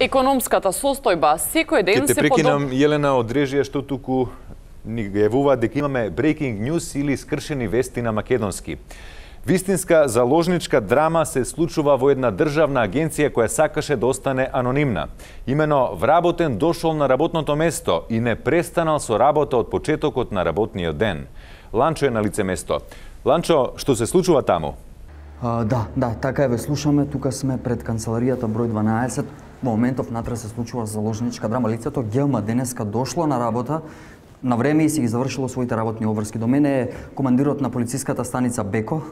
Економската состојба секој ден се прекинам подоб... Јелена од режија што туку ни јавува дека имаме breaking news или скршени вести на македонски. Вистинска заложничка драма се случува во една државна агенција која сакаше да остане анонимна. Имено вработен дошол на работното место и не престанал со работа од почетокот на работниот ден. Ланчо е на лице место. Ланчо, што се случува таму? Да, така е, ве слушаме. Тука сме пред канцеларијата број 12. Во моментов натре се случува заложничка драма. Лицето ГМ денеска дошло на работа на време и си ги завршило своите работни обврски. До мене е командирот на полициската станица Беко.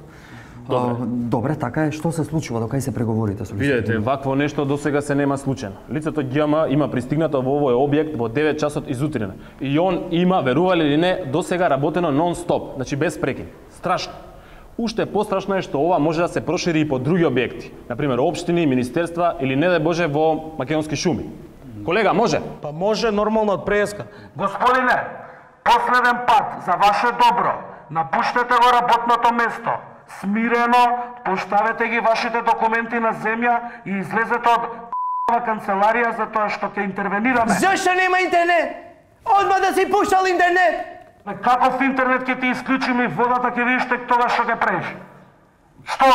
Добре, така е. Што се случува? До кај се преговорите со лицето? Видете, вакво нешто досега се нема случено. Лицето ГМ има пристигнато во овој објект во 9 часот изутрина. И он има, верували или не, досега работено нон-стоп, значи без прекин. Страшно. Уште пострашно е што ова може да се прошири и по други објекти, например општини, министерства или не дај Боже во македонски шуми. Колега, може? Па може нормално од преска. Господине, последен пат за ваше добро, напуштете го работното место. Смирено поставете ги вашите документи на земја и излезете од канцеларија за тоа што ќе интервенираме. Зашто нема интернет? Одма да си пуштал интернет! Каков интернет ќе ти исклучиме водата, ќе видиш тек тоа што ќе правиш. Што?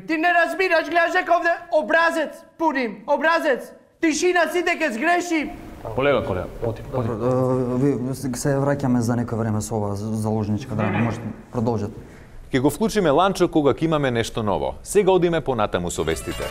Ти не разбираш, гледаш дека овде образец, Пурим, образец. Тишина сите ќе сгреши. Колега, поти. Ви се враќаме за некој време со ова заложничка драма. Можете продолжат. Ќе го вклучиме Ланчо кога ќе имаме нешто ново. Сега одиме понатаму со вестите.